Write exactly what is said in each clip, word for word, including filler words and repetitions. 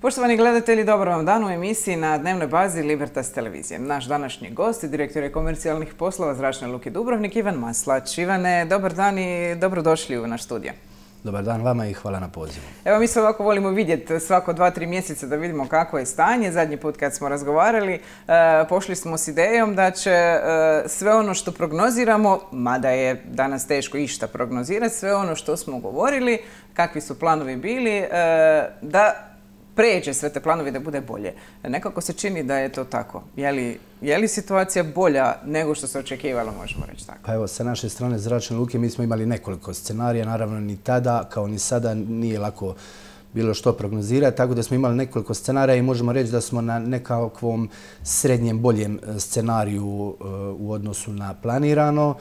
Poštovani gledatelji, dobar vam dan u emisiji na dnevnoj bazi Libertas televizije. Naš današnji gost je direktor komercijalnih poslova Zračne luke Dubrovnik, Ivan Maslać. Ivane, dobar dan i dobrodošli u naš studio. Dobar dan vama i hvala na pozivu. Evo, mi se ovako volimo vidjeti svako dva, tri mjeseca da vidimo kako je stanje. Zadnji put kad smo razgovarali, pošli smo s idejom da će sve ono što prognoziramo, mada je danas teško išta prognozirati, sve ono što smo govorili, kakvi su planovi bili, da pređe sve te planovi da bude bolje. Nekako se čini da je to tako. Je li, je li situacija bolja nego što se očekivalo, možemo reći tako? Pa evo, sa naše strane Zračne luke mi smo imali nekoliko scenarija, naravno ni tada kao ni sada nije lako bilo što prognozirati, tako da smo imali nekoliko scenarija i možemo reći da smo na nekakvom srednjem boljem scenariju u odnosu na planirano.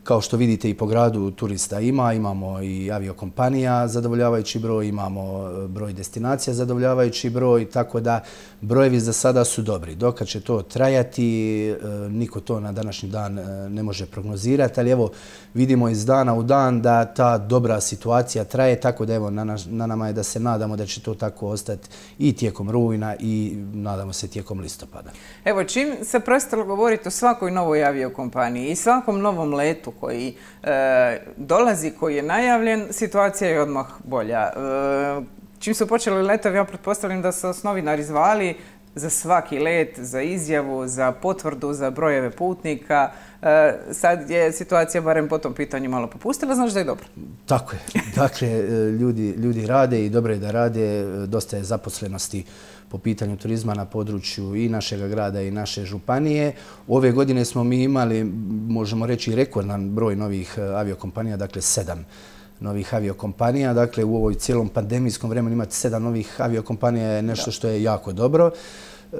Kao što vidite i po gradu turista ima, imamo i aviokompanija zadovoljavajući broj, imamo broj destinacija zadovoljavajući broj, tako da brojevi za sada su dobri. Dokad će to trajati, niko to na današnji dan ne može prognozirati, ali evo vidimo iz dana u dan da ta dobra situacija traje, tako da evo na, naš, na nama je da se nadamo da će to tako ostati i tijekom rujna i nadamo se tijekom listopada. Evo, čim se prestalo govoriti o svakoj novoj aviokompaniji i svakom novom letu koji e, dolazi, koji je najavljen, situacija je odmah bolja. E, čim su počeli letovi, ja pretpostavljam da su novinari zvali za svaki let, za izjavu, za potvrdu, za brojeve putnika. E, sad je situacija barem po tom pitanju malo popustila, znaš da je dobro? Tako je. Dakle, ljudi, ljudi rade i dobro je da rade, dosta je zaposlenosti po pitanju turizma na području i našeg grada i naše županije. Ove godine smo mi imali, možemo reći, rekordan broj novih aviokompanija, dakle sedam novih aviokompanija. Dakle, u ovoj cijelom pandemijskom vremenu imati sedam novih aviokompanija je nešto što je jako dobro. E,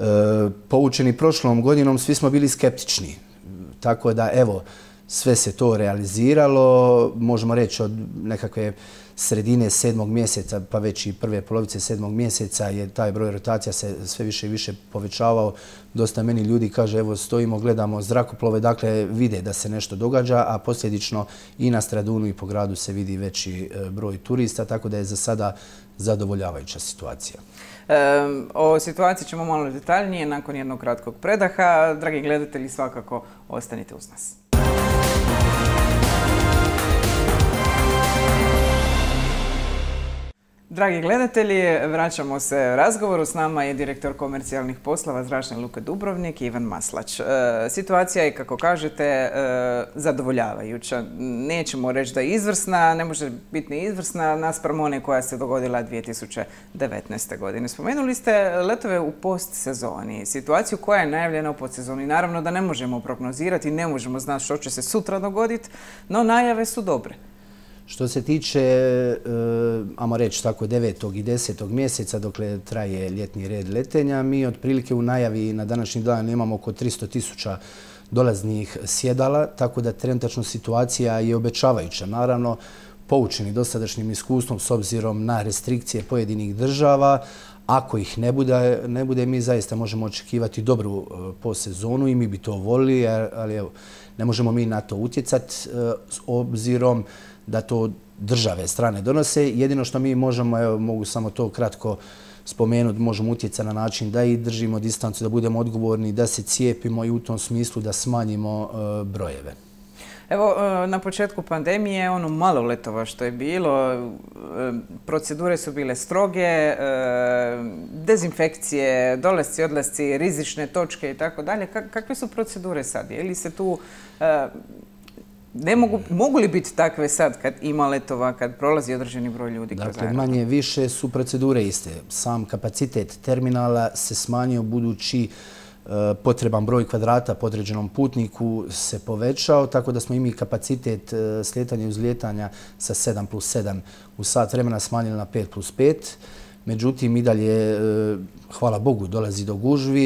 poučeni prošlom godinom svi smo bili skeptični. Tako da, evo, sve se to realiziralo. Možemo reći od nekakve sredine sedmog mjeseca, pa već i prve polovice sedmog mjeseca je taj broj rotacija se sve više i više povećavao. Dosta meni ljudi kaže, evo stojimo, gledamo zrakoplove, dakle vide da se nešto događa, a posljedično i na Stradunu i po gradu se vidi veći broj turista, tako da je za sada zadovoljavajuća situacija. E, o situaciji ćemo malo detaljnije nakon jednog kratkog predaha. Dragi gledatelji, svakako ostanite uz nas. Dragi gledatelji, vraćamo se razgovoru. S nama je direktor komercijalnih poslova Zračne luke Dubrovnik, Ivan Maslać. E, situacija je, kako kažete, e, zadovoljavajuća. Nećemo reći da je izvrsna, ne može biti ni izvrsna naspram one koja se dogodila dvije tisuće devetnaeste. godine. Spomenuli ste letove u postsezoni, situaciju koja je najavljena u postsezoni. Naravno da ne možemo prognozirati, ne možemo znati što će se sutra dogoditi, no najave su dobre. Što se tiče, ajmo reći tako, devetog i desetog mjeseca, dokle traje ljetni red letenja, mi otprilike u najavi na današnji dan imamo oko tristo tisuća dolaznih sjedala, tako da trenutačno situacija je obećavajuća. Naravno, poučeni dosadašnjim iskustvom s obzirom na restrikcije pojedinih država, ako ih ne bude, ne bude, mi zaista možemo očekivati dobru postsezonu i mi bi to volili, ali evo, ne možemo mi na to utjecati s obzirom da to države strane donose. Jedino što mi možemo, evo, mogu samo to kratko spomenuti, možemo utjecati na način da i držimo distancu, da budemo odgovorni, da se cijepimo i u tom smislu da smanjimo uh, brojeve. Evo, na početku pandemije, ono malo letova što je bilo, procedure su bile stroge, dezinfekcije, dolasci, odlasci, rizične točke i tako dalje. Kakve su procedure sad? Je li se tu... Ne mogu, mogu li biti takve sad kad ima letova, kad prolazi određeni broj ljudi kroz aerodrom? Dakle, manje više su procedure iste. Sam kapacitet terminala se smanjio budući potreban broj kvadrata po određenom putniku se povećao, tako da smo i mi kapacitet slijetanja i uzlijetanja sa sedam plus sedam u sat vremena smanjili na pet plus pet. Međutim, i dalje, hvala Bogu, dolazi do gužvi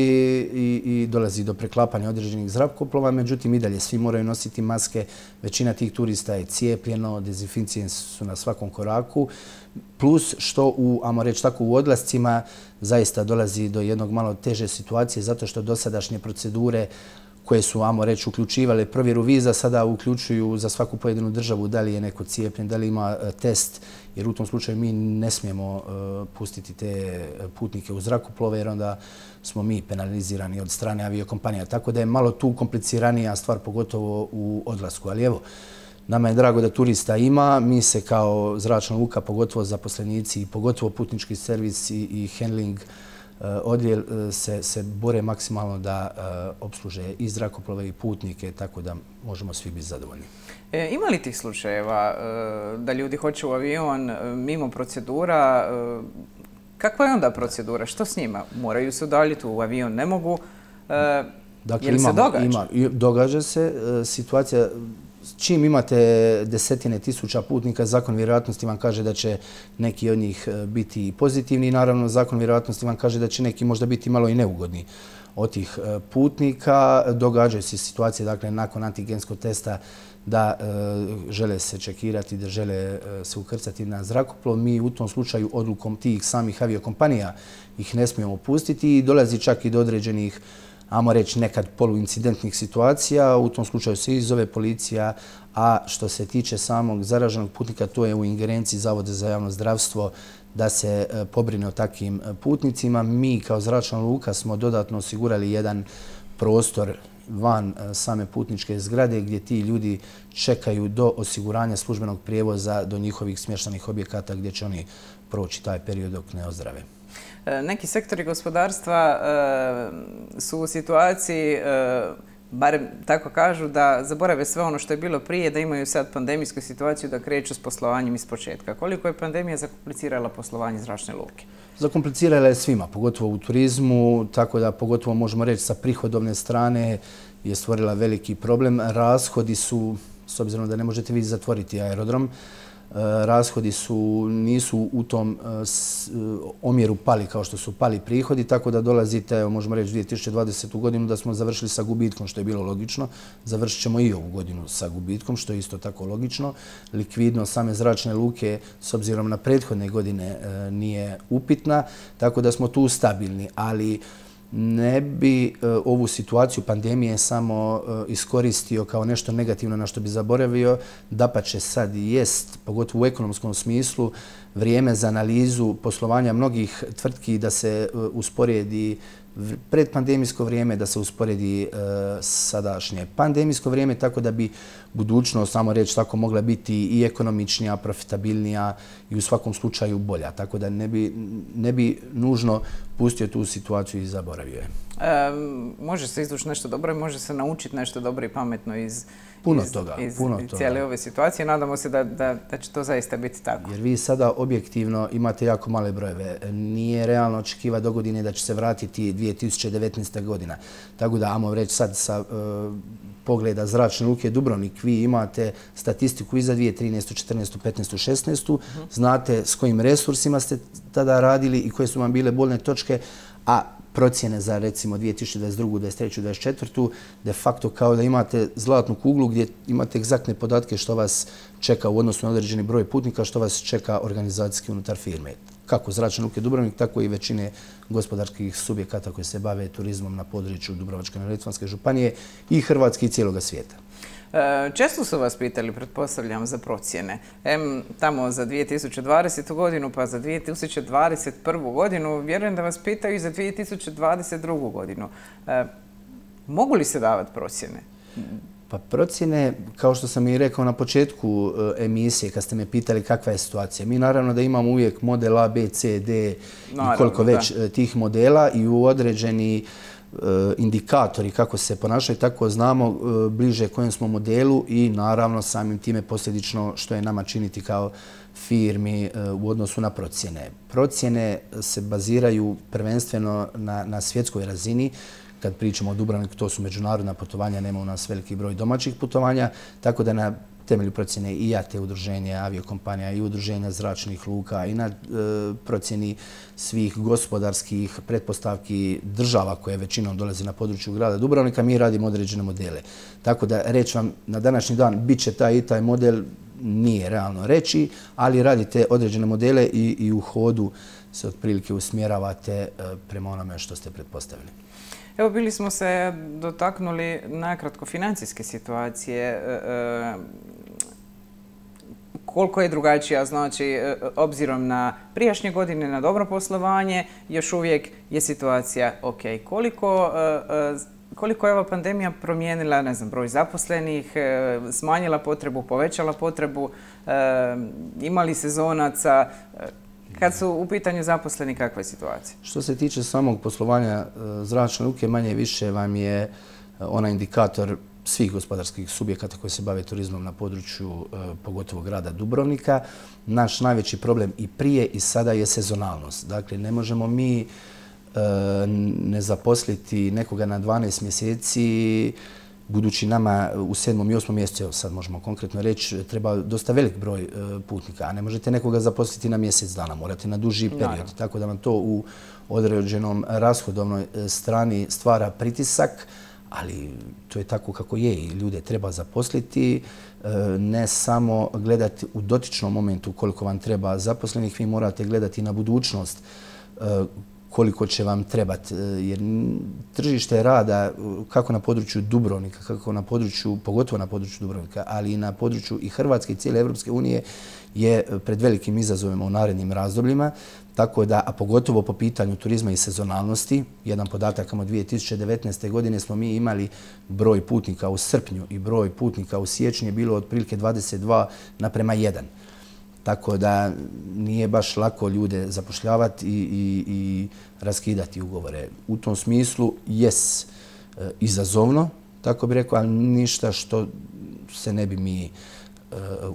i, i dolazi do preklapanja određenih zrakoplova, međutim, i dalje svi moraju nositi maske. Većina tih turista je cijepljeno, dezinficije su na svakom koraku, plus što u, ajmo reći tako, u odlascima zaista dolazi do jednog malo teže situacije zato što dosadašnje procedure koje su, ajmo reći, uključivale provjeru viza, sada uključuju za svaku pojedinu državu da li je neko cijepljen, da li ima test, jer u tom slučaju mi ne smijemo pustiti te putnike u zrakoplove, jer onda smo mi penalizirani od strane aviokompanija. Tako da je malo tu kompliciranija stvar, pogotovo u odlasku. Ali evo, nama je drago da turista ima. Mi se kao zračna luka, pogotovo zaposlenici, pogotovo putnički servis i handling odjel se, se bore maksimalno da opsluže i zrakoplove i putnike, tako da možemo svi biti zadovoljni. E, ima li tih slučajeva da ljudi hoće u avion mimo procedura? Kakva je onda procedura? Što s njima? Moraju se udaljiti u avion? Ne mogu? E, dakle, je li se događa? Ima, događa se. Situacija, čim imate desetine tisuća putnika, zakon vjerojatnosti vam kaže da će neki od njih biti pozitivni i naravno zakon vjerojatnosti vam kaže da će neki možda biti malo i neugodni od tih putnika. Događaju se situacije, dakle, nakon antigenskog testa da e, žele se čekirati, da žele e, se ukrcati na zrakoplov. Mi u tom slučaju odlukom tih samih aviokompanija ih ne smijemo pustiti i dolazi čak i do određenih, ajmo reći, nekad poluincidentnih situacija. U tom slučaju se izzove policija, a što se tiče samog zaraženog putnika, to je u ingerenciji Zavoda za javno zdravstvo da se e, pobrine o takvim putnicima. Mi kao zračna luka smo dodatno osigurali jedan prostor van same putničke zgrade gdje ti ljudi čekaju do osiguranja službenog prijevoza do njihovih smještajnih objekata gdje će oni proći taj period dok ne ozdrave. Neki sektori gospodarstva su u situaciji, barem tako kažu, da zaborave sve ono što je bilo prije, da imaju sad pandemijsku situaciju, da kreću s poslovanjem iz početka. Koliko je pandemija zakomplicirala poslovanje zračne luke? Zakomplicirala je svima, pogotovo u turizmu, tako da pogotovo možemo reći sa prihodovne strane je stvorila veliki problem. Rashodi su, s obzirom da ne možete vi zatvoriti aerodrom, rashodi su, nisu u tom omjeru pali kao što su pali prihodi, tako da dolazite, možemo reći, dvije tisuće dvadesetu godinu da smo završili sa gubitkom, što je bilo logično. Završit ćemo i ovu godinu sa gubitkom, što je isto tako logično. Likvidnost same zračne luke, s obzirom na prethodne godine, nije upitna, tako da smo tu stabilni, ali ne bi ovu situaciju pandemije samo iskoristio kao nešto negativno na što bi zaboravio. Dapače, sad jest, pogotovo u ekonomskom smislu, vrijeme za analizu poslovanja mnogih tvrtki da se usporedi predpandemijsko vrijeme, da se usporedi sadašnje pandemijsko vrijeme, tako da bi budućnost, samo reći tako, mogla biti i ekonomičnija, profitabilnija i u svakom slučaju bolja. Tako da ne bi, ne bi nužno pustio tu situaciju i zaboravio je. E, može se izvući nešto dobro i može se naučiti nešto dobro i pametno iz, puno iz, toga, iz puno cijele toga. ove situacije. Nadamo se da, da, da će to zaista biti tako. Jer vi sada objektivno imate jako male brojeve. Nije realno očekivati do godine da će se vratiti dvije tisuće devetnaesta godina. Tako da, ajmo reći sad sa uh, pogleda zračne luke Dubrovnik, vi imate statistiku i za dvije tisuće trinaestu, četrnaestu, petnaestu, šesnaestu. Uh-huh. Znate s kojim resursima ste tada radili i koje su vam bile bolne točke, a procjene za recimo dvije tisuće dvadeset drugu, dvadeset treću, dvadeset četvrtu de facto kao da imate zlatnu kuglu gdje imate egzaktne podatke što vas čeka u odnosu na određeni broj putnika, što vas čeka organizacijski unutar firme. Kako zračne luke Dubrovnik, tako i većine gospodarskih subjekata koji se bave turizmom na području Dubrovačko-neretvanske županije i Hrvatske i cijeloga svijeta. Često su vas pitali, pretpostavljam, za procjene. Em, tamo za dvije tisuće dvadesetu godinu, pa za dvije tisuće dvadeset prvu godinu. Vjerujem da vas pitaju i za dvije tisuće dvadeset drugu godinu. E, mogu li se davati procjene? Pa procjene, kao što sam i rekao na početku emisije, kad ste me pitali kakva je situacija, mi naravno da imamo uvijek model A, B, C, D naravno, i koliko već da. tih modela i u određeni indikatori kako se ponašaju, tako znamo bliže kojem smo modelu i naravno samim time posljedično što je nama činiti kao firmi u odnosu na procjene. Procjene se baziraju prvenstveno na, na svjetskoj razini. Kad pričamo o Dubrovniku, to su međunarodna putovanja, nema u nas veliki broj domaćih putovanja, tako da na temelju procjene i A T E udruženja aviokompanija i udruženja zračnih luka i na e, procjeni svih gospodarskih pretpostavki država koje većinom dolaze na području grada Dubrovnika, mi radimo određene modele. Tako da reći vam na današnji dan bit će taj i taj model nije realno reći, ali radite određene modele i, i u hodu se otprilike usmjeravate e, prema onome što ste pretpostavili. Evo, bili smo se dotaknuli nakratko financijske situacije. Koliko je drugačija, znači, obzirom na prijašnje godine, na dobro poslovanje, još uvijek je situacija ok. Koliko, koliko je ova pandemija promijenila, ne znam, broj zaposlenih, smanjila potrebu, povećala potrebu, imali sezonaca? Kad su u pitanju zaposleni, kakva je situacija? Što se tiče samog poslovanja zračne luke, manje više vam je onaj indikator svih gospodarskih subjekata koji se bave turizmom na području pogotovo grada Dubrovnika. Naš najveći problem i prije i sada je sezonalnost. Dakle, ne možemo mi ne zaposliti nekoga na dvanaest mjeseci, budući nama u sedmom i osmom mjesecu, evo sad možemo konkretno reći, treba dosta velik broj putnika, a ne možete nekoga zaposliti na mjesec dana, morate na duži period. Tako da vam to u određenom rashodovnoj strani stvara pritisak, ali to je tako kako je i ljude treba zaposliti. Ne samo gledati u dotičnom momentu koliko vam treba zaposlenih, vi morate gledati na budućnost koliko će vam trebati. Jer tržište rada, kako na području Dubrovnika, kako na području, pogotovo na području Dubrovnika, ali i na području i Hrvatske i cijele Europske unije, je pred velikim izazovima u narednim razdobljima. Tako da, a pogotovo po pitanju turizma i sezonalnosti, jedan podatak, od dvije tisuće devetnaeste. godine smo mi imali broj putnika u srpnju i broj putnika u siječnju je bilo otprilike dvadeset dva naprema jedan. Tako da nije baš lako ljude zapošljavati i, i, i raskidati ugovore. U tom smislu jes e, izazovno, tako bi rekao, ali ništa što se ne bi mi e,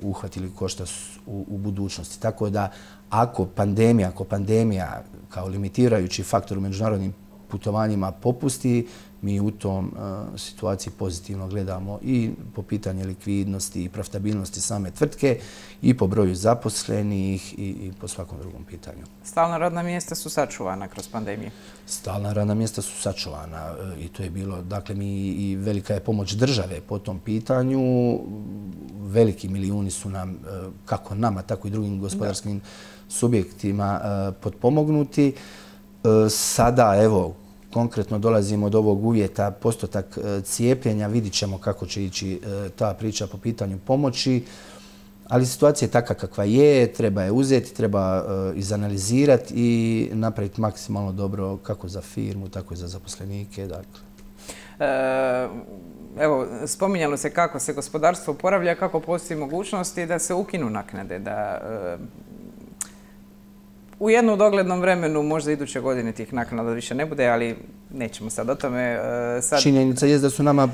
uhvatili košta u, u budućnosti. Tako da ako pandemija, ako pandemija kao limitirajući faktor u međunarodnim putovanjima popusti, mi u tom uh, situaciji pozitivno gledamo i po pitanju likvidnosti i profitabilnosti same tvrtke i po broju zaposlenih i, i po svakom drugom pitanju. Stalna radna mjesta su sačuvana kroz pandemiju? Stalna radna mjesta su sačuvana uh, i to je bilo, dakle, mi i velika je pomoć države po tom pitanju. Veliki milijuni su nam, uh, kako nama, tako i drugim gospodarskim da. subjektima uh, potpomognuti. Uh, sada, evo, konkretno dolazimo od ovog uvjeta postotak cijepljenja, vidit ćemo kako će ići ta priča po pitanju pomoći, ali situacija je takva kakva je, treba je uzeti, treba izanalizirati i napraviti maksimalno dobro kako za firmu, tako i za zaposlenike. Dakle. E, evo, spominjalo se kako se gospodarstvo oporavlja, kako postoji mogućnosti da se ukinu naknade, da e, u jednom doglednom vremenu, možda iduće godine tih naknada više ne bude, ali nećemo sad o tome. Sad... Činjenica je da su nama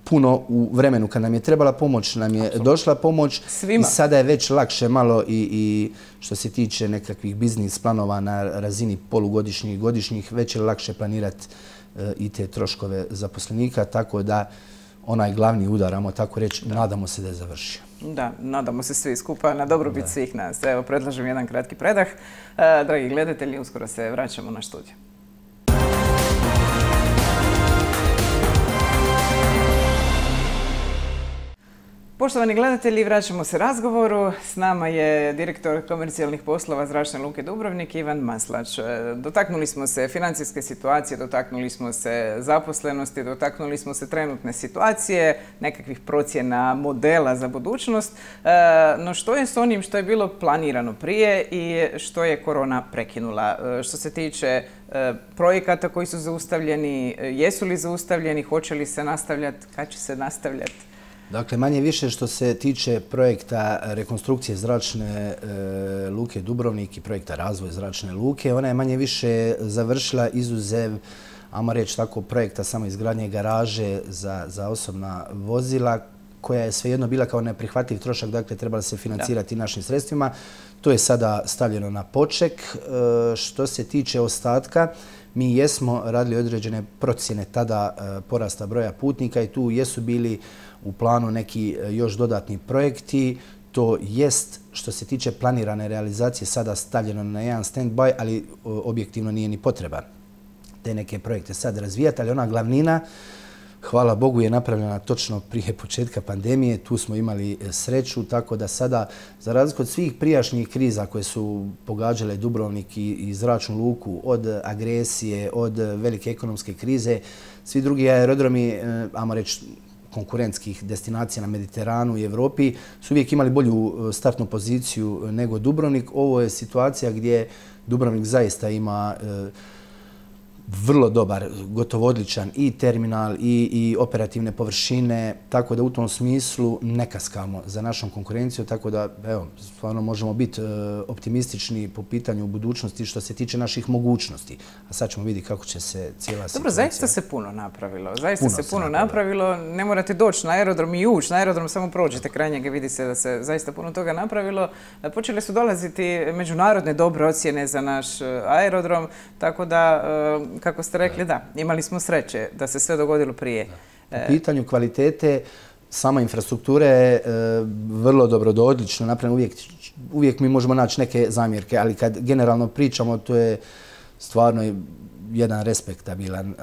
puno u vremenu kad nam je trebala pomoć, nam je Absolutno. došla pomoć. Svima. I sada je već lakše malo i, i što se tiče nekakvih biznis planova na razini polugodišnjih i godišnjih, već je lakše planirati i te troškove zaposlenika, tako da onaj glavni udar, ajmo tako reći, da. nadamo se da je završio. Da, nadamo se svi skupa na dobrobit svih nas. Evo, predlažem jedan kratki predah. E, dragi gledatelji, uskoro se vraćamo na studiju. Poštovani gledatelji, vraćamo se razgovoru. S nama je direktor komercijalnih poslova Zračne luke Dubrovnik, Ivan Maslać. Dotaknuli smo se financijske situacije, dotaknuli smo se zaposlenosti, dotaknuli smo se trenutne situacije, nekakvih procjena modela za budućnost. No što je s onim što je bilo planirano prije i što je korona prekinula? Što se tiče projekata koji su zaustavljeni, jesu li zaustavljeni, hoće li se nastavljati, kad će se nastavljati? Dakle, manje više što se tiče projekta rekonstrukcije zračne e, luke Dubrovnik i projekta razvoja zračne luke, ona je manje više završila izuzev, ajmo reći tako, projekta samo izgradnje garaže za, za osobna vozila, koja je svejedno bila kao neprihvatljiv trošak, dakle trebala se financirati da. našim sredstvima. To je sada stavljeno na poček. E, što se tiče ostatka, mi jesmo radili određene procjene tada e, porasta broja putnika i tu jesu bili u planu neki još dodatni projekti. To jest, što se tiče planirane realizacije, sada stavljeno na jedan stand-by, ali objektivno nije ni potreba te neke projekte sad razvijati, ali ona glavnina hvala Bogu, je napravljena točno prije početka pandemije. Tu smo imali sreću, tako da sada, za razliku od svih prijašnjih kriza koje su pogađale Dubrovnik i zračnu luku, od agresije, od velike ekonomske krize, svi drugi aerodromi, ajmo reći, konkurentskih destinacija na Mediteranu i Evropi su uvijek imali bolju startnu poziciju nego Dubrovnik. Ovo je situacija gdje Dubrovnik zaista ima vrlo dobar, gotovo odličan i terminal i, i operativne površine, tako da u tom smislu ne kaskamo za našom konkurencijom, tako da evo, stvarno možemo biti optimistični po pitanju budućnosti što se tiče naših mogućnosti. A sad ćemo vidjeti kako će se cijela situacija... Dobro, zaista se puno napravilo. Zaista se puno napravilo. Ne morate doći na aerodrom i ući na aerodrom, samo prođete kraj njega, vidi se da se zaista puno toga napravilo. Počele su dolaziti međunarodne dobre ocjene za naš aerodrom, tako da, kako ste rekli, da, imali smo sreće da se sve dogodilo prije. Po pitanju kvalitete, sama infrastruktura je vrlo dobro do odlično napravljena. Uvijek, uvijek mi možemo naći neke zamjerke, ali kad generalno pričamo, to je stvarno jedan respektabilan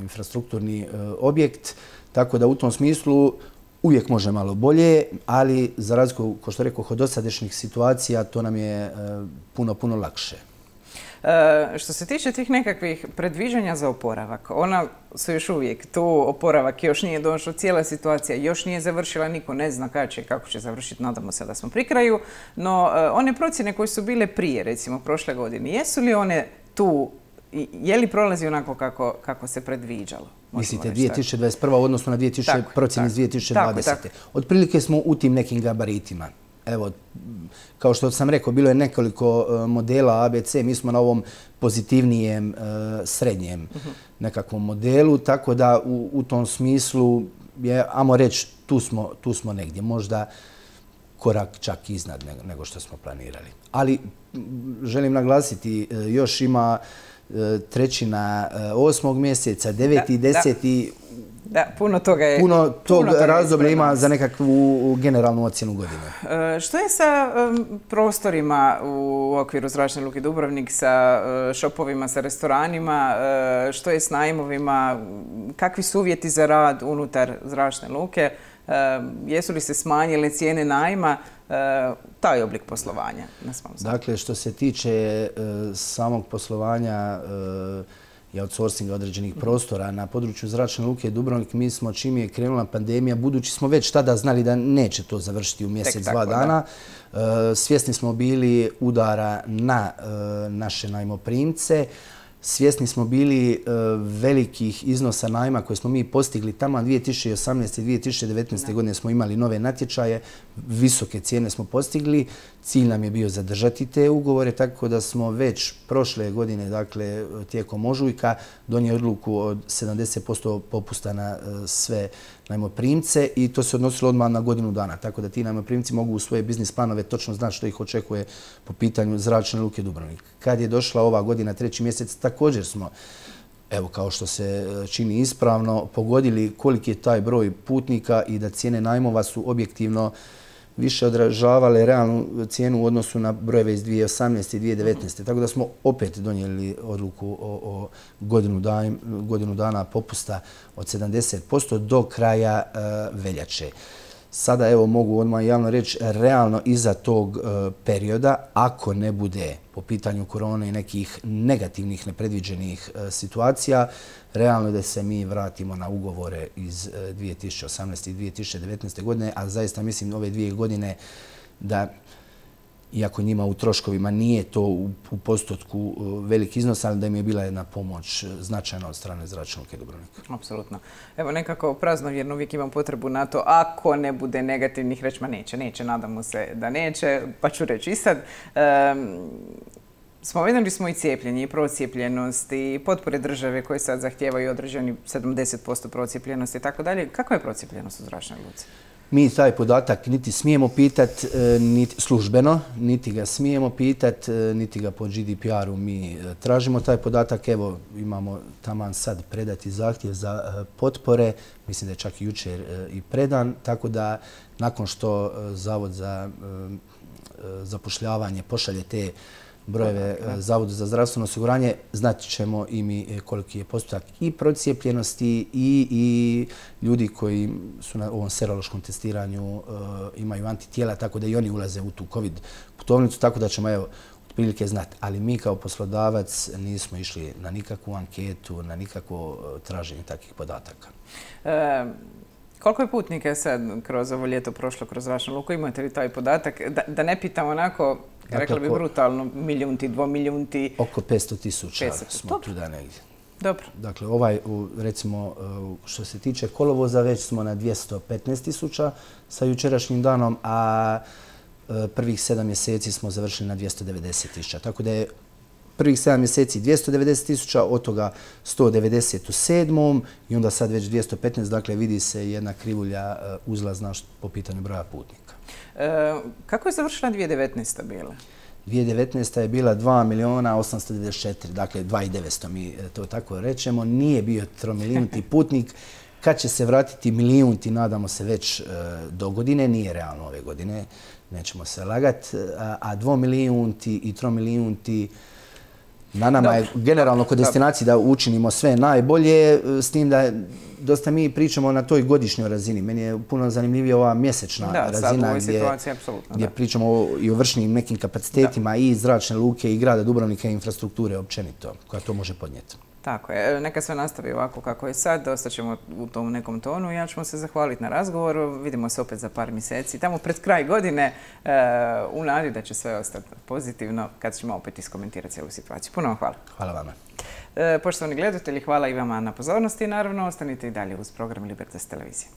infrastrukturni objekt. Tako da u tom smislu uvijek može malo bolje, ali za razliku, kao što rekao, od dosadašnjih situacija, to nam je puno, puno lakše. Što se tiče tih nekakvih predviđanja za oporavak, ona su još uvijek tu, oporavak još nije došao, cijela situacija još nije završila, niko ne zna kada će, kako će završiti, nadamo se da smo pri kraju, no one procjene koje su bile prije, recimo prošle godine, jesu li one tu, je li prolazi onako kako, kako se predviđalo? Mislite dvije tisuće dvadeset prva u odnosu na dvije tisuće procjene iz dvije tisuće dvadesete. Otprilike smo u tim nekim gabaritima. Evo, kao što sam rekao, bilo je nekoliko modela A B C, mi smo na ovom pozitivnijem, srednjem nekakvom modelu, tako da u, u tom smislu je, ajmo reći, tu smo, tu smo negdje, možda korak čak iznad nego što smo planirali. Ali želim naglasiti, još ima trećina osmog mjeseca, deveti i deseti. Da, puno toga je... Puno tog razdoblja ima za nekakvu generalnu ocjenu godine. Što je sa prostorima u okviru Zračne luke Dubrovnik, sa šopovima, sa restoranima, što je s najmovima, kakvi su uvjeti za rad unutar Zračne luke, jesu li se smanjile cijene najma, taj oblik poslovanja na svom sadu? Dakle, što se tiče samog poslovanja i outsourcinga određenih prostora na području Zračne luke Dubrovnik, mi smo, čim je krenula pandemija, budući smo već tada znali da neće to završiti u mjesec, dva dana, svjesni smo bili udara na naše najmoprimce, svjesni smo bili velikih iznosa najma koje smo mi postigli tamo dvije tisuće osamnaeste. i dvije tisuće devetnaeste. godine smo imali nove natječaje, visoke cijene smo postigli, cilj nam je bio zadržati te ugovore, tako da smo već prošle godine, dakle tijekom ožujka, donijeli odluku od sedamdeset posto popusta na sve najmoprimce i to se odnosilo odmah na godinu dana, tako da ti najmoprimci mogu u svoje biznis planove točno znati što ih očekuje po pitanju Zračne luke Dubrovnik. Kad je došla ova godina, treći mjesec, također smo, evo kao što se čini ispravno, pogodili koliki je taj broj putnika i da cijene najmova su objektivno više odražavale realnu cijenu u odnosu na brojeve iz dvije tisuće osamnaeste. i dvije tisuće devetnaeste. Tako da smo opet donijeli odluku o, o godinu, dan, godinu dana popusta od sedamdeset posto do kraja uh, veljače. Sada evo mogu odmah javno reći, realno iza tog uh, perioda, ako ne bude po pitanju korone i nekih negativnih, nepredviđenih uh, situacija, realno da se mi vratimo na ugovore iz uh, dvije tisuće osamnaeste. i dvije tisuće devetnaeste. godine, a zaista mislim ove dvije godine da, iako njima u troškovima nije to u, u postotku uh, velik iznos, ali da im je bila jedna pomoć značajna od strane Zračne luke Dubrovnik. Apsolutno. Evo nekako praznovjerno uvijek imam potrebu na to, ako ne bude negativnih reći, ma neće, neće, nadamo se da neće, pa ću reći i sad. Um, Spomenuli smo i cijepljenje i procijepljenost i potpore države koje sad zahtijevaju određeni sedamdeset posto procijepljenosti i tako dalje. Kakva je procijepljenost u Zračnoj luci? Mi taj podatak niti smijemo pitati niti službeno, niti ga smijemo pitati, niti ga po G D P R-u mi tražimo taj podatak. Evo, imamo taman sad predati zahtjev za potpore, mislim da je čak i jučer i predan, tako da nakon što Zavod za zapošljavanje pošalje te brojeve Zavodu za zdravstveno osiguranje, znat ćemo i mi koliki je postotak i procijepljenosti i, i ljudi koji su na ovom serološkom testiranju imaju antitijela, tako da i oni ulaze u tu COVID putovnicu, tako da ćemo evo prilike znati. Ali mi kao poslodavac nismo išli na nikakvu anketu, na nikakvo traženje takvih podataka. E, koliko je putnika sad kroz ovo ljeto prošlo kroz vašu luku? Imate li taj podatak? Da, da ne pitam onako, dakle, rekla bi brutalno, milijunti, dvomilijunti. Oko petsto tisuća smo tu da negdje. Dobro. Dakle, ovaj, recimo, što se tiče kolovoza, već smo na dvjesto petnaest tisuća sa jučerašnjim danom, a prvih sedam mjeseci smo završili na dvjesto devedeset tisuća. Tako da je prvih sedam mjeseci dvjesto devedeset tisuća, od toga sto devedeset u sedmom i onda sad već dvjesto petnaest, dakle vidi se jedna krivulja uzlazna po pitanju broja putnika. E, kako je završila dvije tisuće devetnaesta bila? dvije tisuće devetnaesta je bila dva milijuna osamsto devedeset četiri, dakle dva i devetsto mi to tako rečemo. Nije bio tromilijunti putnik. Kad će se vratiti milijunti, nadamo se već do godine, nije realno ove godine, nećemo se lagati, a dvomilijunti i tromilijunti na nama je generalno kod destinacije da učinimo sve najbolje, s tim da dosta mi pričamo na toj godišnjoj razini. Meni je puno zanimljivija ova mjesečna razina gdje pričamo i o vršnim nekim kapacitetima i zračne luke i grada Dubrovnika i infrastrukture općenito koja to može podnijeti. Tako je. Neka sve nastavi ovako kako je sad. Ostaćemo u tom nekom tonu. Ja ćemo se zahvaliti na razgovoru. Vidimo se opet za par mjeseci. Tamo pred kraj godine u nadi da će sve ostati pozitivno kad ćemo opet iskomentirati cijelu situaciju. Puno vam hvala. Hvala vama. Poštovani gledatelji, hvala i vama na pozornosti. Naravno, ostanite i dalje uz program Libertas televizije.